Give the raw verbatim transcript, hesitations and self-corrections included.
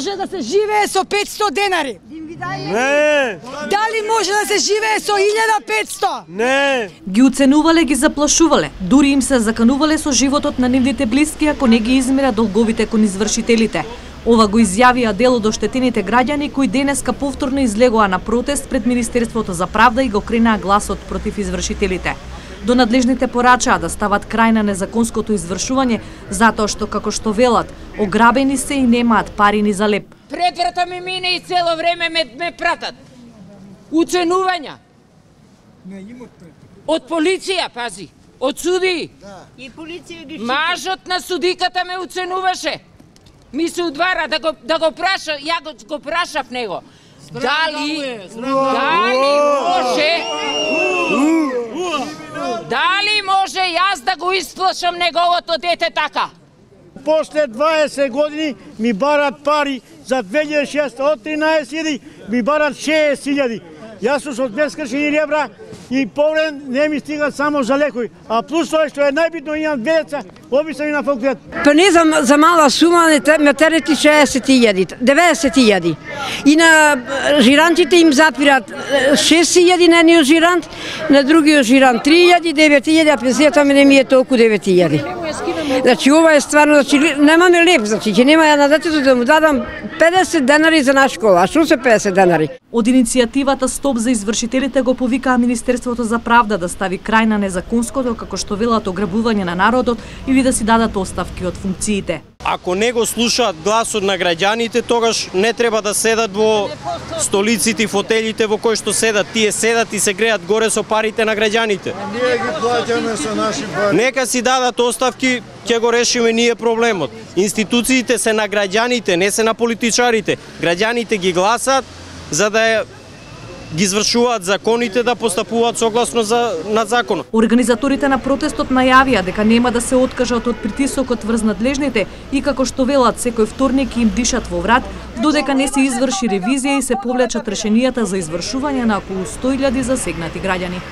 може да се живее со петсто денари? Не. Дали може да се живее со илјада и петсто? Не. Ги уценувале, ги заплашувале, дури им се заканувале со животот на нивните блиски ако не ги измира долговите кон извршителите. Ова го изјавија дел од оштетените граѓани кои денеска повторно излегоа на протест пред Министерството за правда и го кренаа гласот против извршителите. До надлежните порачаа да стават крај на незаконското извршување затоа што, како што велат, ограбени се и немаат пари ни за леп. Пред врата ми мине и цело време ме, ме пратат. Уценувања. Од полиција, пази. Од судии. И полиција ги Мажот на судиката ме уценуваше. Ми се удвара да го, да го праша, ја го, го прашав него. Дали, дали може, дали може јас да го исплашам неговото дете така? После дваесет години ми барат пари за две илјади и шеста, од тринаесет илјади ми барат шеесет илјади. Јас сум со бескршени ребра и повреден не ми стигат само за лекови. А плюс тоа што е најбитно, имам две деца, обисани на факултет. Па не за, за мала сума ме терети шеесет илјади, деветдесет илјади. И на жирантите им запират шест илјади на едниот жирант, на другиот жирант три илјади, девет илјади, а пенсијата ми не ми е толку девет илјади. Значи ова е стварно, значи немаме леп, значи ќе нема ја на детето да му дадам педесет денари за на школа. А што се педесет денари? Од иницијативата Стоп за извршителите го повикаа Министерството за правда да стави крај на незаконското, како што велат, ограбување на народот или да си дадат оставки од функциите. Ако не го слушаат гласот на граѓаните, тогаш не треба да седат во столиците и фотелите во кои што седат. Тие седат и се греат горе со парите на граѓаните. Ние ги плаќаме со наши пари. Нека си дадат оставки, ќе го решиме ние проблемот. Институциите се на граѓаните, не се на политичарите. Граѓаните ги гласат за да ги извршуваат законите, да постапуваат согласно за, на законот. Организаторите на протестот најавија дека нема да се откажат од притисокот врз надлежните и како што велат секој вторник им дишат во врат, додека не се изврши ревизија и се повлечат решенијата за извршување на околу сто илјади засегнати граѓани.